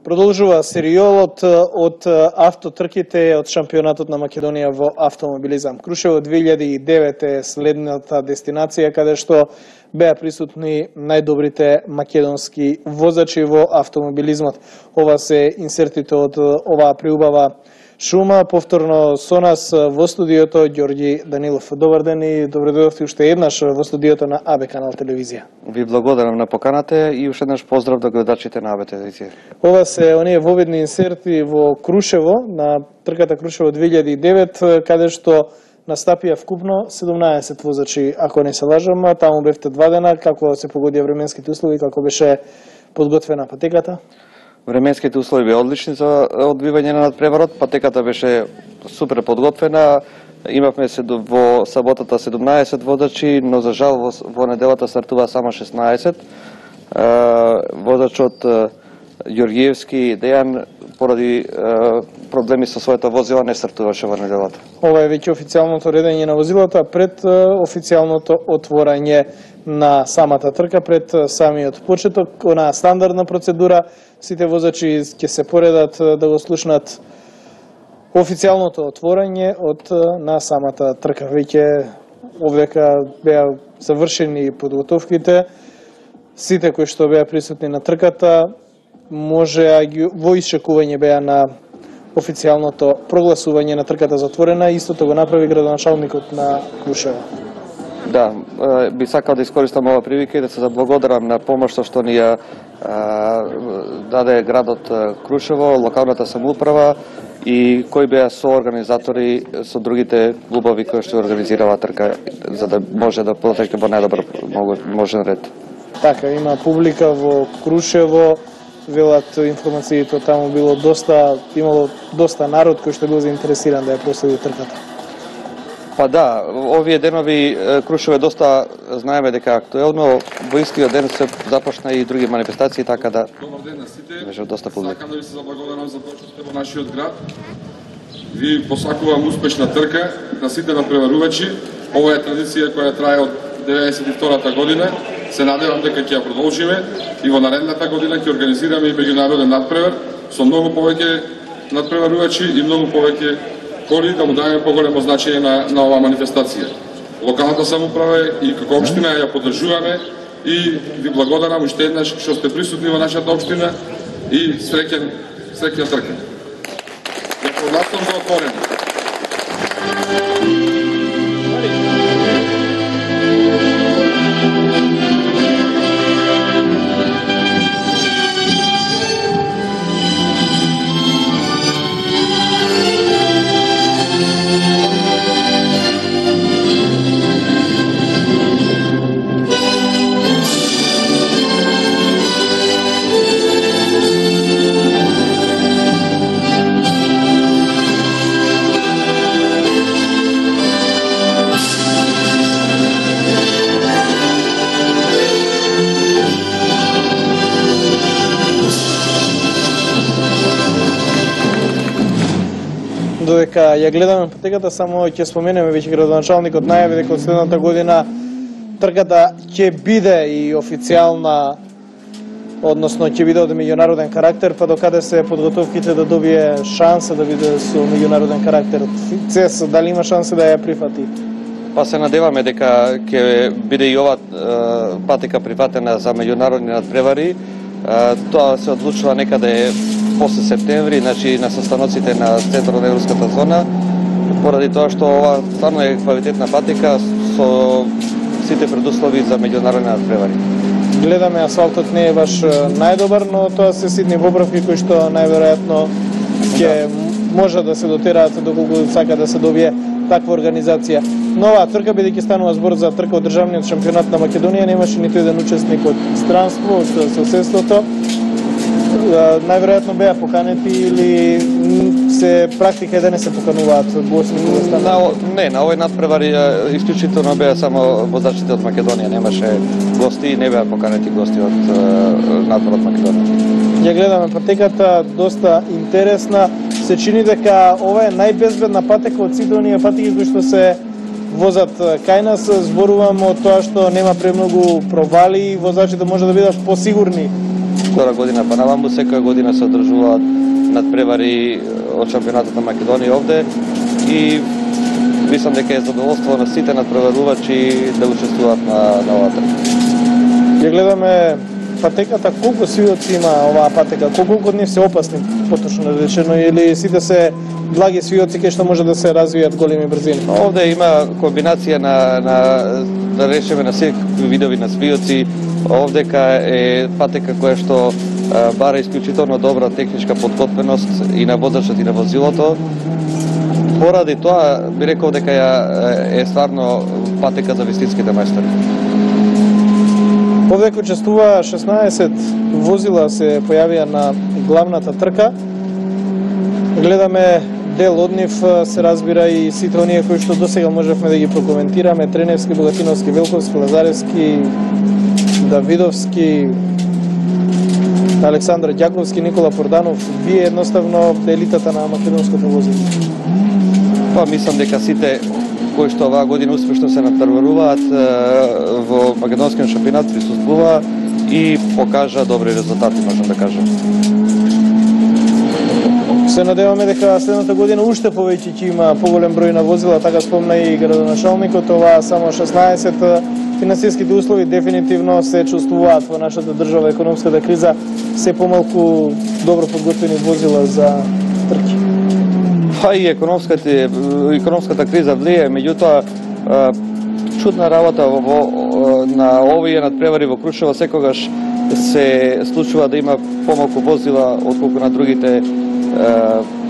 Продолжува серијалот од автотрките од шампионатот на Македонија во автомобилизам. Крушево 2009 е следната дестинација каде што беа присутни најдобрите македонски возачи во автомобилизмот. Ова се инсертите од оваа преубава шума. Повторно со нас во студиото Ѓорѓи Данилов. Добар ден и добре дојдовте уште еднаш во студиото на АБ Канал Телевизија. Ви благодарам на поканата и уште еднаш поздрав до гледачите на АБ Телевизија. Ова се оние воведни инсерти во Крушево, на трката Крушево 2009, каде што настапија вкупно 17 возачи, ако не се лажам. Таму бевте 2 дена. Како се погодија временските услови, како беше подготвена патеката? Временските услови беа одлични за одбивање на надпреварот. Патеката беше супер подготвена. Имавме во саботата 17 водачи, но за жал во неделата стартува само 16. Водачот Ѓорѓиевски Дејан поради проблеми со своето возило не стартуваше во неделата. Ова е веќе официјалното редење на возилата пред официјалното отворање на самата трка, пред самиот почеток. Онаа стандардна процедура, сите возачи ќе се поредат да го слушнат официјалното отворање на самата трка. Веќе овдека беа завршени подготовките. Сите кои што беа присутни на трката можеа во исчекување беа на официјалното прогласување на трката затворена. Истото го направи градоначалникот на Крушево. Да, би сакал да искористам ова прилика и да се заблагодарам на помошта што ни ја даде градот Крушево, локалната самоуправа и кои беа соорганизатори со другите клубови кои што организираа трка, за да може да протече во најдобар можен ред. Така, има публика во Крушево, велат информациите таму имало доста народ кој што бил заинтересиран да ја проследи трката. Па да, овие денови Крушево е доста, знаеме дека актуелно, во истиот ден се започна и други манифестации, така да... Добар ден на сите. Беше доста публика. Сакам да ви се заблагодарам за тоа што сте во нашиот град. Ви посакувам успешна трка на сите надпреварувачи. Ова е традиција која трае од 92-та година. Се надевам дека ќе ја продолжиме и во наредната година ќе организираме и меѓународен надпревар со многу повеќе надпреварувачи и многу повеќе коли, да му дадеме поголемо значење на оваа манифестација. Локалната самоуправа и како општина ја поддржуваме и ви благодарам уште еднаш што сте присутни во нашата општина и среќен трка. Ја прогласувам за отворено. Додека ја гледаме патеката, само ќе споменеме, веќе градоначалникот најави дека од следната година трката ќе биде и официјална, односно ќе биде од меѓународен карактер, па докаде се подготовките да добие шанса да биде со меѓународен карактер. ЦЕС дали има шанса да ја прифати? Па се надеваме дека ќе биде и ова патека прифатена за меѓународни надпревари. Тоа се одлучува некаде после септември, значи на состаноците на центарот на европската зона, поради тоа што ова стварно е квалитетна патека со сите предуслови за меѓународни надпревари. Гледаме, асфалтот не е баш најдобар, но тоа се ситни поправки кои што најверојатно ќе може да се дотераат доколку сака да се добие таква организација. Но оваа трка, бидејќи станува збор за трка од државниот шампионат на Македонија, немаше ниту еден учесник од странство, од соседството. Најверојатно беа поканети или се практика да не се покануваат гости да станат? Не, на овој надпревар исклучително беа само возачите од Македонија, немаше гости и не беа поканети гости од надпреварот Македонија. Ја гледаме патеката, доста интересна. Се чини дека ова е најбезбедна патека од сите оние патеки кои што се возат кај нас. Зборувам од тоа што нема премногу провали и возачите може да бидат посигурни втора година па наваму, секоја година се одржуваат надпревари од шампионатот на Македонија овде и мислам дека е задоволство на сите надпреварувачи да учествуваат на оваа трка. Ја гледаме патеката, колку свиоци има оваа патека, колку од нив се опасни, поточно речено, или сите се благи свиоци кај што може да се развијат големи брзини? Овде има комбинација да речеме на секакви видови на свиоци. Овдека е патека која што бара исклучително добра техничка подготвеност и на возачот и на возилото. Поради тоа би рекол дека е стварно патека за вистинските мајстори. Овде учествува 16 возила се појавија на главната трка. Гледаме дел од нив, се разбира и сите оние кои што досега можевме да ги прокоментираме: Треневски, Богатиновски, Велковски, Лазаревски, Давидовски, Александр Ѓаковски, Никола Порданов. Вие едноставно елитата на македонското возење. Па мислам дека сите кои што оваа година успешно се надпреваруваат во македонскиот шампионат присуствуваа и покажа добри резултати, можам да кажам. Се надеваме дека следната година уште повеќе ќе има поголем број на возила, така спомна и градоначалникот. Ова само 16. Финансиските услови дефинитивно се чувствуваат во нашата држава. Економската криза, се помалку добро подготвени возила за трки. Па и економската криза влие, меѓутоа чудна работа на овие надпревари во Крушево секогаш се случува да има помалку возила отколку на другите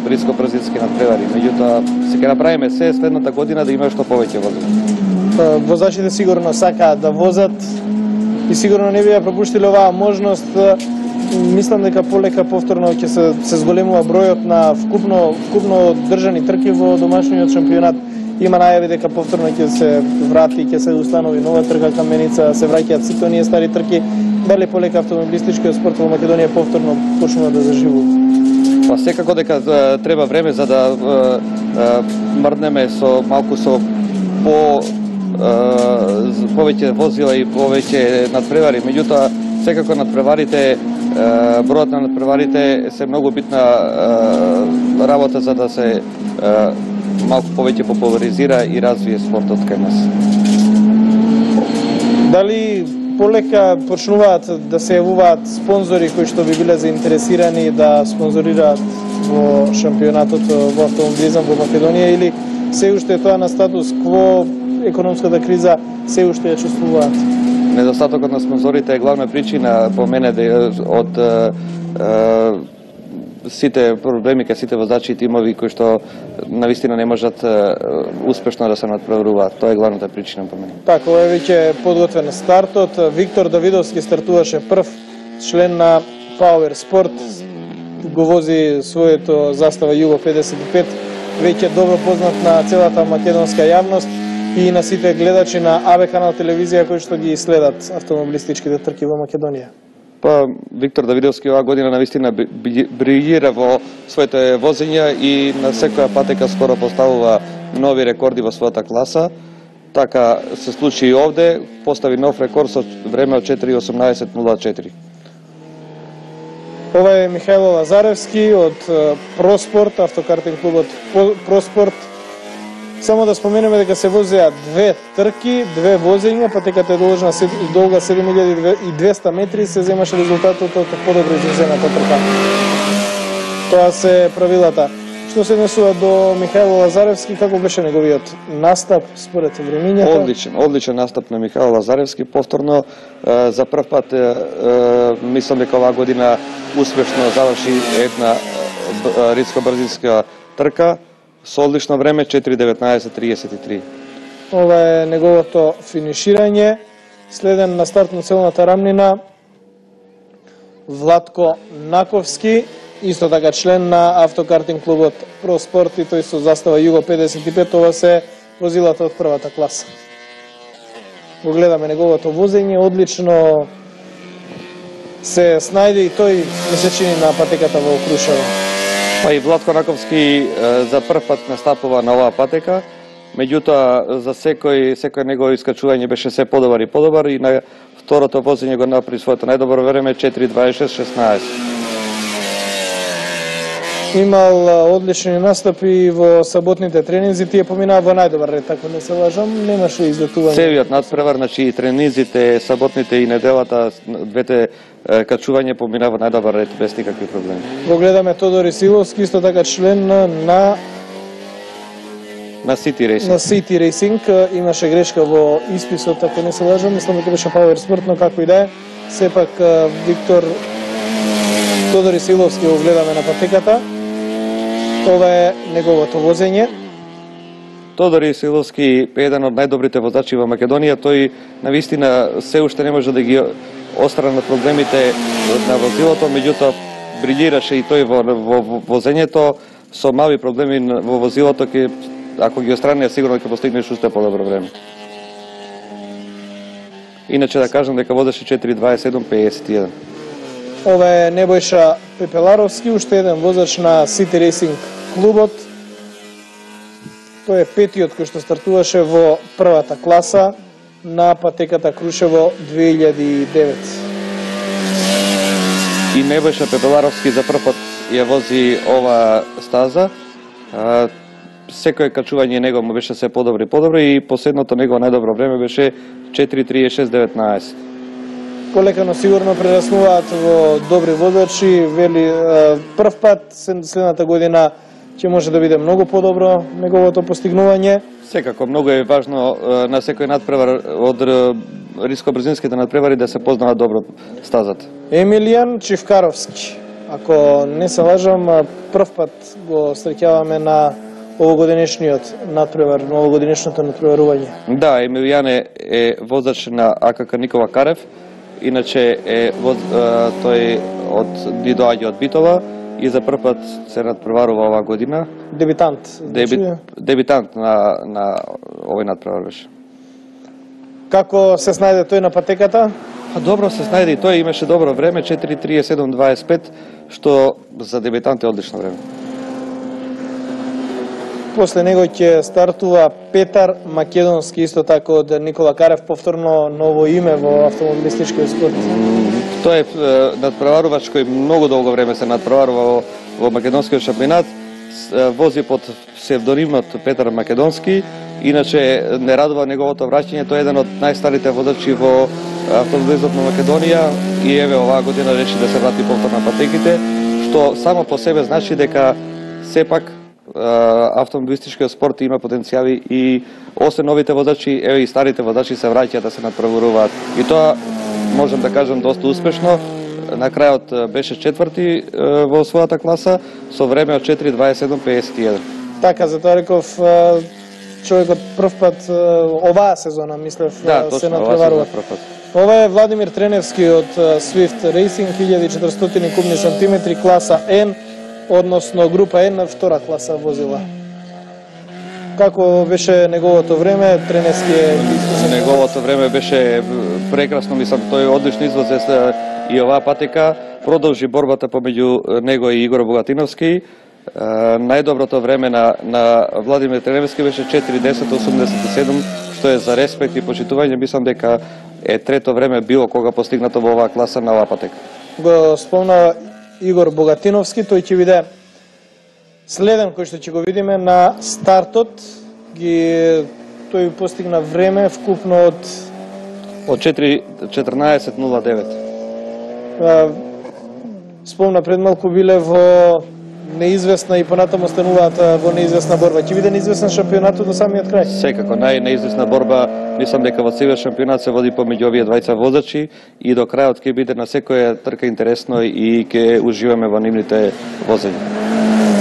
риско-брзински надпревари. Меѓутоа се ќе направиме се следната година да има што повеќе возила. Возачите сигурно сакаат да возат и сигурно не би ја пропуштиле оваа можност. Мислам дека полека повторно ќе се зголемува бројот на вкупно држани трки во домашниот шампионат. Има најави дека повторно ќе се врати, ќе се установи нова трка Каменица, се враќаат сите оние стари трки. Дали полека автомобилистичкиот спорт во Македонија повторно почнува да заживува? Па секако дека треба време за да мрднеме со малку со повеќе возила и повеќе надпревари. Меѓутоа секако надпреварите, бројот на надпреварите се многу битна работа за да се малку повеќе популаризира и развие спортот кај нас. Дали полека почнуваат да се јавуваат спонзори кои што би биле заинтересирани да спонзорираат во шампионатот во автомобилизам во Македонија, или се уште е тоа на статус кво, економската криза се уште ја чувствуваат? Недостатокот на спонзорите е главна причина по мене од сите проблеми кај сите возачи и тимови кои што навистина не можат успешно да се надпреваруваат. Тоа е главната причина по мене. Така, ова е веќе подготвен стартот. Виктор Давидовски стартуваше прв, член на Power Sport. Го вози своето застава Југо 55, веќе добро познат на целата македонска јавност и на сите гледачи на АБ канал телевизија кои што ги следат автомобилистичките трки во Македонија. Па Виктор Давидовски оваа година навистина брилира во своите возења и на секоја патека скоро поставува нови рекорди во својата класа. Така се случи и овде, постави нов рекорд со време од 4:18:04. Ова е Михајло Лазаревски од Проспорт, автокартинг клубот Проспорт. Само да споменеме дека се возеа две трки, две возења, патеката е долга 7200 метри, се земаше резултатот од подобро изразената трка. Тоа се правилата. Што се однесува до Михајло Лазаревски, како беше неговиот настап според времињата? Одличен настап на Михајло Лазаревски. Повторно за прв пат мислам дека оваа година успешно заврши една риско-брзинска трка со одлично време 4:19:33. Ова е неговото финиширање. Следен на стартно целната рамнина Владко Наковски, исто така член на автокартинг клубот Проспорт и тој со застава Југо 55, ова се возилата од првата класа. Го гледаме неговото возење, одлично се снајде и тој месечини на патеката во Крушево. Па и Владко Наковски за прв пат настапува на оваа патека, меѓутоа за секој негово искачување беше се подобар и подобар и на Второто возење го направи своето најдобро време 4:26:16. Имал одлични настапи во саботните тренинзи, тие поминаа во најдобар ред, ако не се лажам, немаше излетување. Целиот надпревар, значи и тренинзите, саботните и неделата, двете качување поминаа во најдобар ред без никакви проблеми. Го гледаме Тодор Исиловски, исто така член на City Racing. На City Racing, имаше грешка во исписот, ако не се лажам, мислам дека беше Power Sport, но како и да е, сепак Виктор Тодор Исиловски го гледаме на патеката. Ова е неговото возење. Тодор Исиловски е еден од најдобрите возачи во Македонија. Тој навистина се уште не може да ги острана проблемите на возилото, меѓутоа брилираше и тој во возењето со мали проблеми во возилото, ако ги острани, сигурно ќе постигнеш уште подобро време. Иначе да кажам дека возеше 4:27:51. Ова е Небојша Пепеларовски, уште еден возач на City Racing клубот. Тој е петиот кој што стартуваше во првата класа на патеката Крушево 2009. И Небојша Пепеларовски за прв пат ја вози ова стаза. Секој качување него му беше се подобро и последното негово најдобро време беше 4:36:19. Полека, но сигурно прераснуваат во добри водачи, вели прв пат следната година ќе може да биде многу подобро неговото постигнување. Секако многу е важно на секој надпревар од риско-брзинските надпревари да се познава добро стазата. Емилијан Чивкаровски, ако не се лажам, прв пат го среќаваме на овогодинешниот надпревар, на овогодинешното надпреварување. Да, Емилијан е возач на АКК Никола Карев. Иначе тој ни доаѓа од Битола и за прв пат се надпреварува оваа година. Дебитант. Дебитант на овој надпревар беше. Како се снајде тој на патеката? Добро се снајде и тој, имаше добро време, 4:37:25, што за дебитант е одлично време. После него ќе стартува Петар Македонски, исто така од Никола Карев, повторно ново име во автомобилистичкиот спорт. Тој е надпреварувач кој многу долго време се надпреварува во македонскиот шампионат. Вози под псевдонимот Петар Македонски. Иначе не радува неговото враќање. Тој е еден од најстарите водачи во автомобилизмот на Македонија и еве оваа година реши да се врати повторно на патеките, што само по себе значи дека сепак автомобилистичкиот спорт има потенцијали и освен новите водачи, еве и старите водачи се враќаат да се надпреваруваат. И тоа можам да кажам доста успешно. На крајот беше четврти во својата класа со време од 4:27:51. Така, затоа реков човекот прв пат оваа сезона, мислев, се надпреварува. Ова е Владимир Треневски од Swift Racing, 1400 кубни сантиметри, класа N, односно група N, втора класа возила. Како беше неговото време? Треневски е искусен. Неговото време беше прекрасно, мислам, тој одлично извозе и оваа патека. Продолжи борбата помеѓу него и Игор Богатиновски. Најдоброто време на Владимир Треневски беше 4:10:87, што е за респект и почитување. Мислам дека е трето време било кога постигнато во оваа класа на оваа патека. Го спомнава Игор Богатиновски, тој ќе биде следен кој што ќе го видиме на стартот. Тој постигна време вкупно од 4:14:09. Спомна пред малку биле во неизвестна и понатаму стануваат во неизвестна борба. Ќе биде неизвестен шампионатот до самиот крај. Секако, најнеизвестна борба, мислам дека во целиот шампионат се води помеѓу овие двајца возачи и до крајот ќе биде на секоја трка интересно и ќе уживаме во нивните возења.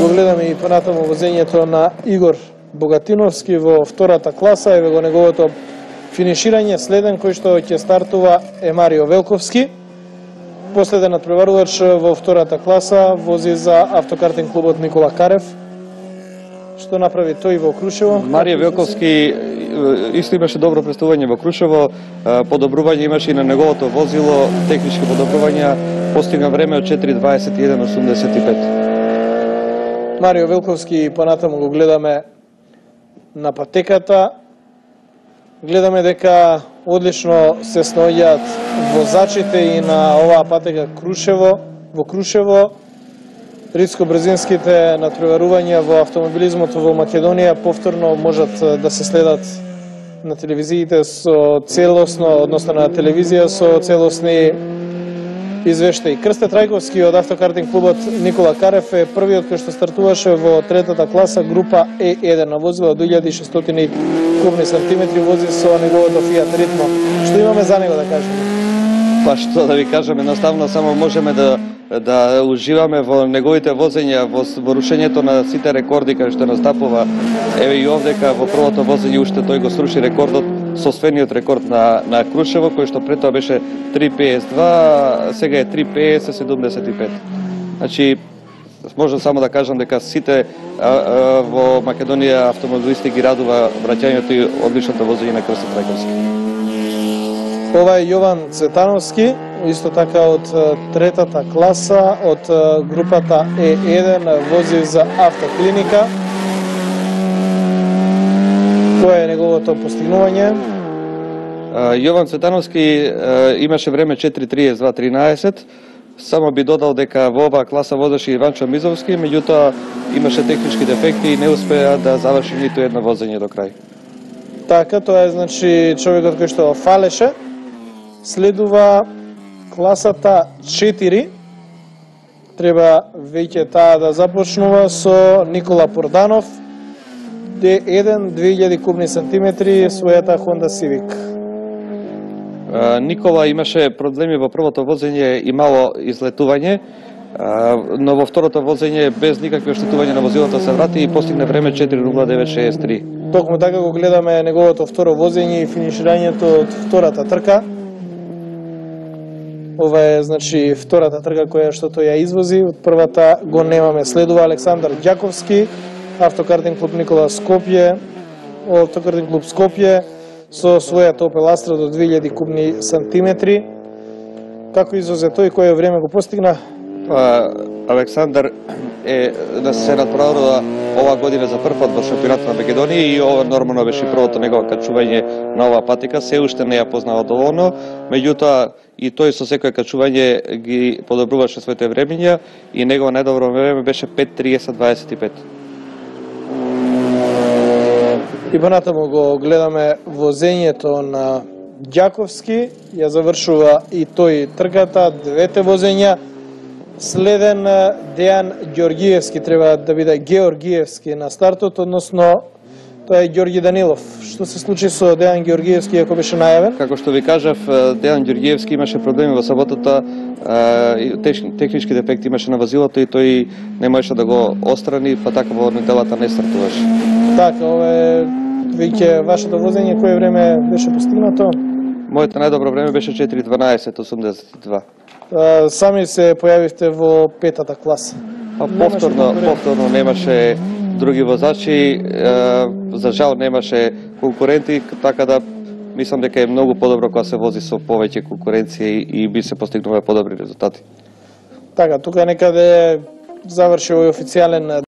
Го гледаме и понатаму возењето на Игор Богатиновски во втората класа, еве го неговото финиширање. Следен кој што ќе стартува е Марио Велковски. Последен надпреварувач во втората класа вози за автокартинг клубот Никола Карев. Што направи тој во Крушево? Марио Велковски исто имаше добро представување во Крушево, подобрување имаше и на неговото возило, технички подобрувања, постигна време од 4:21:85. Марио Велковски понатаму го гледаме на патеката. Гледаме дека одлично се снаоѓаат возачите и на оваа патека во Крушево. Ридско-брзинските натпреварувања во автомобилизмото во Македонија повторно можат да се следат на телевизиите со целосно, односно на телевизија со целосни извештаи. Крсте Трајковски од автокартинг клубот Никола Карев е првиот кој што стартуваше во третата класа група E1 на возила 2600 кубни сантиметри, вози со неговото Fiat Ritmo. Што имаме за него да кажеме? Па што да ви кажам, едноставно само можеме да уживаме во неговите возења, во рушењето на сите рекорди кај што настапува. Еве и овдека во првото возење уште тој го сруши рекордот, соствениот рекорд на Крушево, кој што пред тоа беше 3:52, сега е 3:50-75. Значи, можам само да кажам дека сите во Македонија автомобилисти ги радува враќањето и одличното возење на Крсте Трајковски. Ова е Јован Цветановски, исто така од третата класа, од групата E1, вози за автоклиника. Кој е неговото постигнување? Јован Цветановски имаше време 4:32:13. Само би додал дека во оваа класа возеше Иванчо Мизовски, меѓутоа имаше технички дефекти и не успеа да заврши ниту едно возење до крај. Така, тоа е значи човекот кој што фалеше. Следува класата 4. Треба веќе таа да започнува со Никола Порданов, D1, 2000 кубни сантиметри, својата Honda Civic. Никола имаше проблеми во првото возење и мало излетување, но во второто возење без никакви оштетувања на возилото се врати и постигне време 4:09:63. Токму така го гледаме неговото второ возење и финиширањето од втората трка. Ова е значи втората трка која што тој ја извози, од првата го немаме. Следува Александар Ѓаковски, автокартинг клуб Никола Скопје, автокартинг клуб Скопје со својата Opel Astra до 2000 кубни сантиметри. Како извозе тој, кој време го постигна? Александар се натпреварува оваа година за прв пат во шампионатот на Македонија и ова нормално беше првото негово качување на оваа патека. Се уште не ја познава доволно, меѓутоа и тој со секое качување ги подобруваше своите времења и негово најдобро време беше 5:30:25. И понатаму го гледаме возењето на Ѓаковски, ја завршува и тој трката, двете возења. Следен Дејан Ѓоргиевски, треба да биде Георгиевски на стартот, односно тоа е Ѓорги Данилов. Што се случи со Дејан Ѓоргиевски ако беше најавен? Како што ви кажав, Дејан Ѓоргиевски имаше проблеми во саботата, технички дефекти имаше на возилото и тој не можеше да го отстрани, па така во неделата не стартуваше. Така, ова е веќе вашето возење, кое време беше постигнато? Моето најдобро време беше 4:12:82. Сами се појавивте во петата класа. Повторно немаше други возачи, за жал немаше конкуренти, така да мислам дека е многу подобро кога се вози со повеќе конкуренција и би се постигнува подобри резултати. Така, тука некаде заврши овој официјален